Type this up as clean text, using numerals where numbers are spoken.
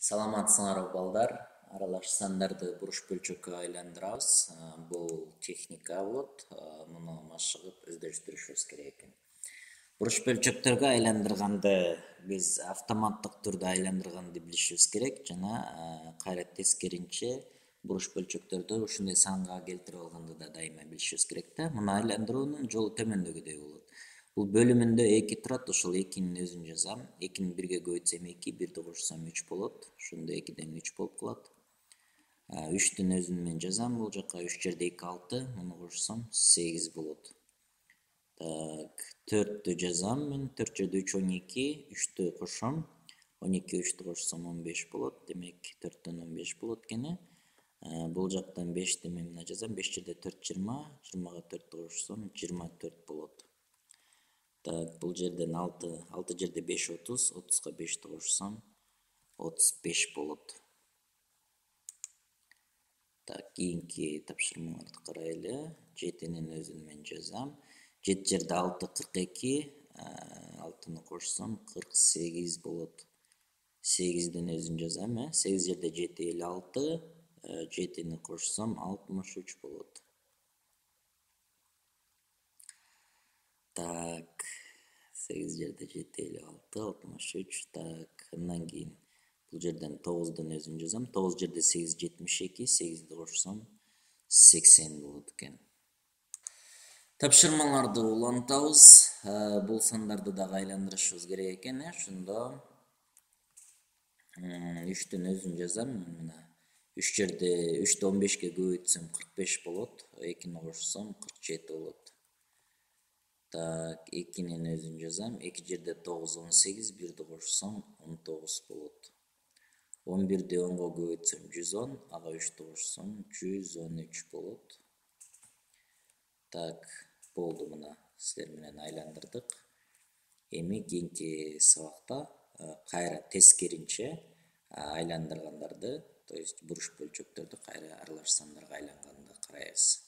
Саламатсыңарбы балдар? Аралаш сандарды буруш бөлчөккө айландырабыз. Бул техника болот. Муну машыгып өздөштүрүшүбүз керек экен. Буруш бөлчөктөргө айландырганды биз автоматтык түрдө айландырганды билишибиз керек жана кайра тескеринче буруш бөлчөктөрдү ушундай санга келтирип алганды да дайыма билишибиз керек да. Муну айландыруунун жолу төмөндөгүдөй болот. Бул бөлүмүндө 2 турат, ошол 2-нин өзүн жазам. 2-ни 1-ге көбөйтсөм 2, 1-ди кошсом 3 болот. Ошондо 2ден 3 болуп калат. 3-түн өзүн мен жазам. Бул жака 3 жерде 2 6, муну кошсом 8 болот. 4-тү жазам мен. 4 жерде 3 12, 3-тү кошом. 12 3-тү кошсом 15 болот. Демек 4төн 15 болот экен. Бул жактан 5-ти мен мына жазам. 5 жерде 4 20, 20га 4тү кошсом 24 болот. Бул жерден 6 жерде 5 30, 30га 5-ти кошсом 35 болот. Кийинки тапшырмаларды карайлы. 7-нин өзүн мен жазам. 7 жерде 6 42, 6-ны кошсом 48 болот. 8-дин өзүн жазам. 8 жерде 7 56, 7-ни кошсом 63 болот. 8 жерде 7 56, 63. Андан кийин бул жерден 9-дун өзүн жазам. 9 жерде 8 72, 8-ди кошсом 80 болот экен. Тапшырмаларды улантабыз. Бул сандарды дагы айландырышыбыз керек экен. Ошондо 3-түн өзүн жазам. Мына 3 жерде 3-тү 15ге көбөйтсөм 45 болот. 2-ни кошсом 47 болот. 2-нин өзүн жазам. 2 жерде 9 18, 1-ди кошсом 19 болот. 11-ди 10го көбөйтсөм 110, ага 3-тү кошсом 113 болот. Болду, мына силер менен айландырдык. Эми кийинки сабакта кайра тескеринче айландыргандарды, то есть буруш бөлчөктөрдү кайра аралаш сандарга айланганды карайбыз.